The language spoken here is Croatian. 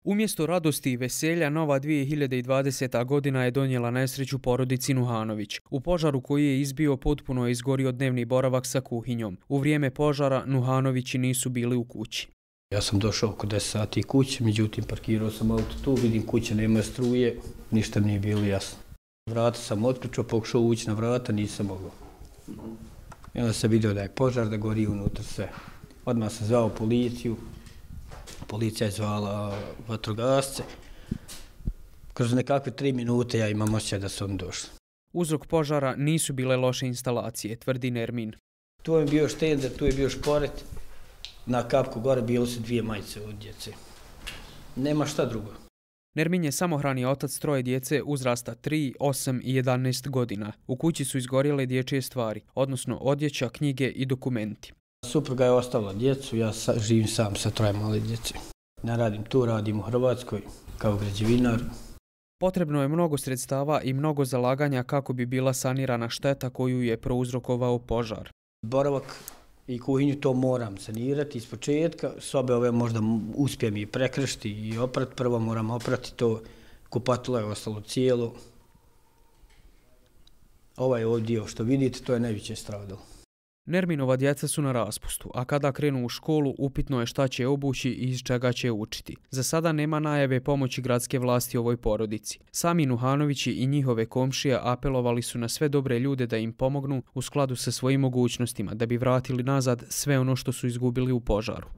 Umjesto radosti i veselja, nova 2020. godina je donijela nesreću porodici Nuhanović. U požaru koji je izbio potpuno je izgorio dnevni boravak sa kuhinjom. U vrijeme požara Nuhanovići nisu bili u kući. Ja sam došao oko 10 sati kući, međutim parkirao sam auto tu, vidim kuća nema struje, ništa mi nije bilo jasno. Vrata sam otključao, pokušao ući na vrata, nisam mogao. I onda sam vidio da je požar, da gori unutra sve. Odmah sam zvao policiju, policija je zvala vatrogasce. Kroz nekakve 3 minute ja imam osjećaj da su oni došli. Uzrok požara nisu bile loše instalacije, tvrdi Nermin. Tu je bio štender, tu je bio šporet. Na kapku gore bilo su 2 majice od djece. Nema šta drugo. Nermin je samohrani otac 3 djece uzrasta 3, 8 i 11 godina. U kući su izgorjele dječje stvari, odnosno odjeća, knjige i dokumenti. Supruga je ostavila djecu, ja živim sam sa 3 male djece. Ne radim tu, radim u Hrvatskoj kao građevinar. Potrebno je mnogo sredstava i mnogo zalaganja kako bi bila sanirana šteta koju je prouzrokovao požar. Boravak i kuhinju to moram sanirati iz početka. Sobe ove možda uspijem i prekršiti i oprati. Prvo moram oprati to, kupatilo je ostalo cijelo. Ovaj ovdje dio što vidite, to je najveće stradalo. Nerminova djeca su na raspustu, a kada krenu u školu upitno je šta će obući i iz čega će učiti. Za sada nema najave pomoći gradske vlasti ovoj porodici. Sami Nuhanovići i njihove komšije apelovali su na sve dobre ljude da im pomognu u skladu sa svojim mogućnostima da bi vratili nazad sve ono što su izgubili u požaru.